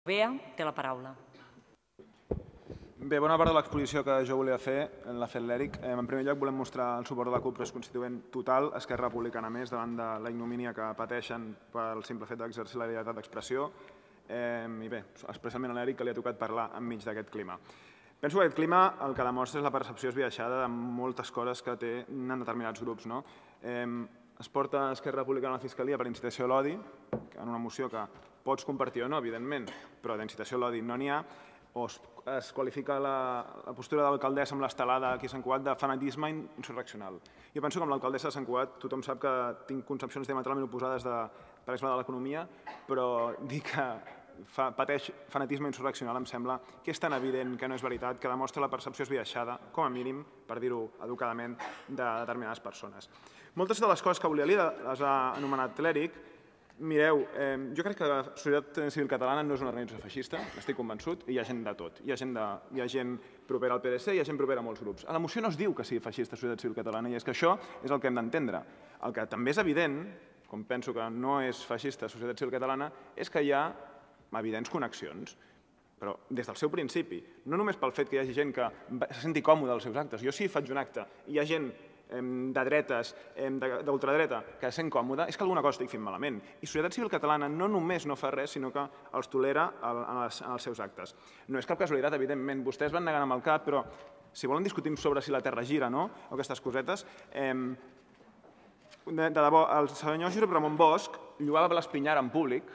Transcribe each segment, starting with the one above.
Bea, té la paraula. Bé, bona part de l'exposició que jo volia fer l'ha fet l'Eric. En primer lloc volem mostrar el suport de la CUP Constituent total, Esquerra Republicana més, davant de la ignomínia que pateixen pel simple fet d'exercir la llibertat d'expressió. I bé, especialment a l'Eric, que li ha tocat parlar enmig d'aquest clima. Penso que aquest clima el que demostra és la percepció esbiaixada de moltes coses que tenen determinats grups. Es porta Esquerra Republicana a la Fiscalia per incitació a l'odi, en una moció que pots compartir o no, evidentment, però d'incitació a l'odi no n'hi ha, o es qualifica la postura de l'alcaldessa amb l'estelada aquí a Sant Cugat de fanatisme insurreccional. Jo penso que amb l'alcaldessa de Sant Cugat tothom sap que tinc concepcions diametralment oposades per exemple de l'economia, però dir que pateix fanatisme insurreccional em sembla que és tan evident que no és veritat, que demostra la percepció esbiaixada, com a mínim, per dir-ho educadament, de determinades persones. Moltes de les coses que volia dir les ha anomenat l'Eric. Mireu, jo crec que la societat civil catalana no és una organització feixista, estic convençut, i hi ha gent de tot. Hi ha gent propera al PDC, hi ha gent propera a molts grups. A la moció no es diu que sigui feixista la societat civil catalana, i és que això és el que hem d'entendre. El que també és evident, com penso que no és feixista la societat civil catalana, és que hi ha evidents connexions, però des del seu principi. No només pel fet que hi hagi gent que se senti còmode als seus actes. Jo si faig un acte i hi ha gent de dretes, d'ultradreta, que se sent còmode, és que alguna cosa estic fent malament. I Societat Civil Catalana no només no fa res, sinó que els tolera en els seus actes. No és cap casualitat, evidentment, vostès van negant amb el cap, però si volen discutim sobre si la Terra gira, no?, o aquestes cosetes, de debò, el senyor Josep Ramon Bosch lloava l'Espinyar en públic.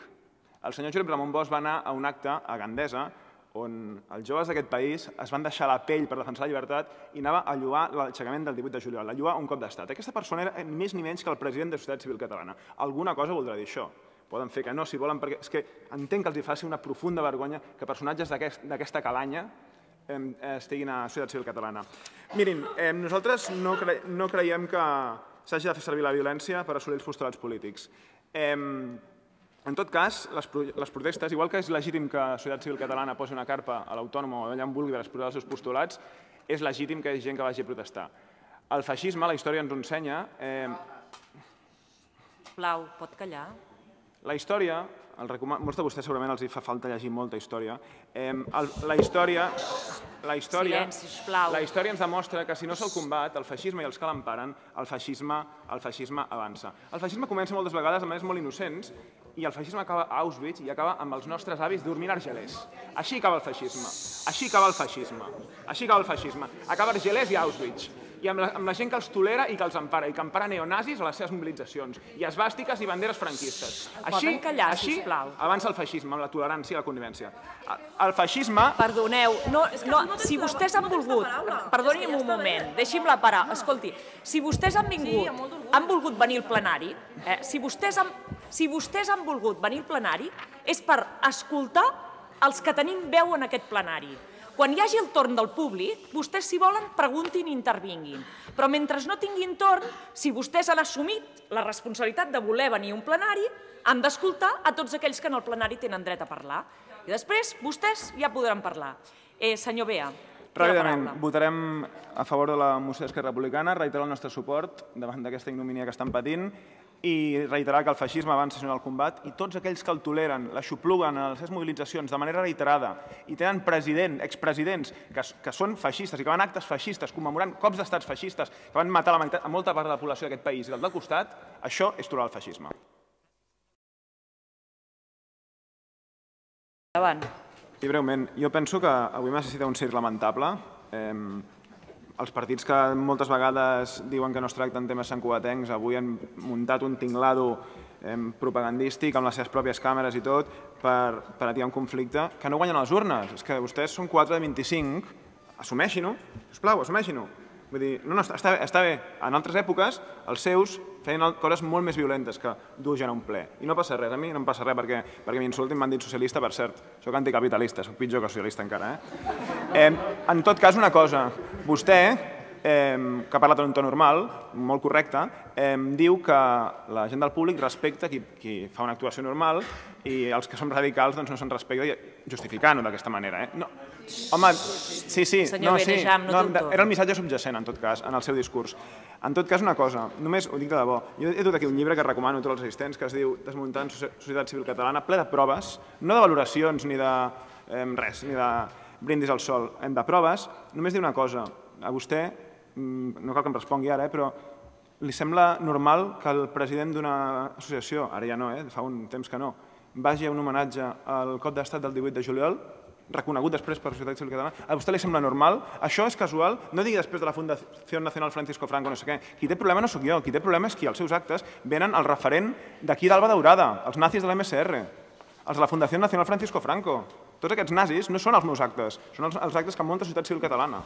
El senyor Josep Ramon Bosch va anar a un acte a Gandesa on els joves d'aquest país es van deixar la pell per defensar la llibertat i anava a lloar l'aixecament del 18 de juliol, a lloar un cop d'estat. Aquesta persona era ni més ni menys que el president de Societat Civil Catalana. Alguna cosa voldrà dir això. Poden fer que no, si volen, perquè és que entenc que els faci una profunda vergonya que personatges d'aquesta calanya estiguin a Societat Civil Catalana. Mirin, nosaltres no creiem que s'hagi de fer servir la violència per assolir els postulats polítics. En tot cas, les protestes, igual que és legítim que la Societat Civil Catalana posi una carpa a l'Autònoma o allà on vulgui per exposar els seus postulats, és legítim que hi hagi gent que vagi a protestar. El feixisme, la història ens ho ensenya... Sisplau, pot callar? La història, molts de vostès segurament els fa falta llegir molta història, la història ens demostra que si no se'l combat, el feixisme i els que l'emparen, el feixisme avança. El feixisme comença moltes vegades de maneres molt innocents i el feixisme acaba a Auschwitz i acaba amb els nostres avis dormint argelers. Així acaba el feixisme. Així acaba el feixisme. Així acaba el feixisme. Acaba argelers i Auschwitz. I amb la gent que els tolera i que els empara, i que empara neonazis a les seves mobilitzacions, i esvàstiques i banderes franquistes. Poden callar, sisplau. Avança el feixisme, amb la tolerància i la convivència. El feixisme... Perdoneu, si vostès han volgut... Perdoni'm un moment, deixi'm-la parar. Escolti, si vostès han volgut venir al plenari, si vostès han volgut venir al plenari, és per escoltar els que tenim veu en aquest plenari. Quan hi hagi el torn del públic, vostès, si volen, preguntin i intervinguin. Però mentre no tinguin torn, si vostès han assumit la responsabilitat de voler venir a un plenari, han d'escoltar a tots aquells que en el plenari tenen dret a parlar. I després, vostès ja podran parlar. Senyor Bea, té la paraula. Ràpidament, votarem a favor de la moció d'Esquerra Republicana, reiterar el nostre suport davant d'aquesta ignomínia que estan patint i reiterar que el feixisme avança en el combat i tots aquells que el toleren, l'aixopluguen a les seves mobilitzacions de manera reiterada i tenen expresidents que són feixistes i que van a actes feixistes commemorant cops d'estats feixistes que van matar a molta part de la població d'aquest país i del costat, això és tolerar el feixisme. Endavant. I breument, jo penso que avui necessita un circ lamentable. Els partits que moltes vegades diuen que no es tracten temes santcugatencs avui han muntat un tinglado propagandístic amb les seves pròpies càmeres i tot per atiar un conflicte que no guanyen a les urnes. És que vostès són 4 de 25, assumeixin-ho, sisplau, assumeixin-ho. Vull dir, està bé. En altres èpoques, els seus feien coses molt més violentes que dur gent a un ple. I no passa res, a mi no em passa res perquè m'insultin, m'han dit socialista, per cert. Soc anticapitalista, soc pitjor que socialista encara. En tot cas, una cosa. Vostè que ha parlat en un to normal, molt correcte, diu que la gent del públic respecta qui fa una actuació normal i els que som radicals no se'n respecta, justificant-ho d'aquesta manera. Home, sí, era el missatge subjacent, en tot cas, en el seu discurs. En tot cas, una cosa, només ho dic de debò, jo he dut aquí un llibre que recomano a tots els assistents que es diu Desmuntant Societat Civil Catalana, ple de proves, no de valoracions ni de res, ni de brindis al sol, de proves. Només dir una cosa, a vostè, no cal que em respongui ara, però li sembla normal que el president d'una associació, ara ja no, fa un temps que no, vagi a un homenatge al cop d'estat del 18 de juliol, reconegut després per la Societat Civil Catalana, a vostè li sembla normal? Això és casual? No digui després de la Fundació Nacional Francisco Franco no sé què. Qui té problema no sóc jo, qui té problema és qui als seus actes venen el referent d'aquí d'Alba Daurada, els nazis de l'MSR, els de la Fundació Nacional Francisco Franco. Tots aquests nazis no són els meus actes, són els actes que munta la Societat Civil Catalana.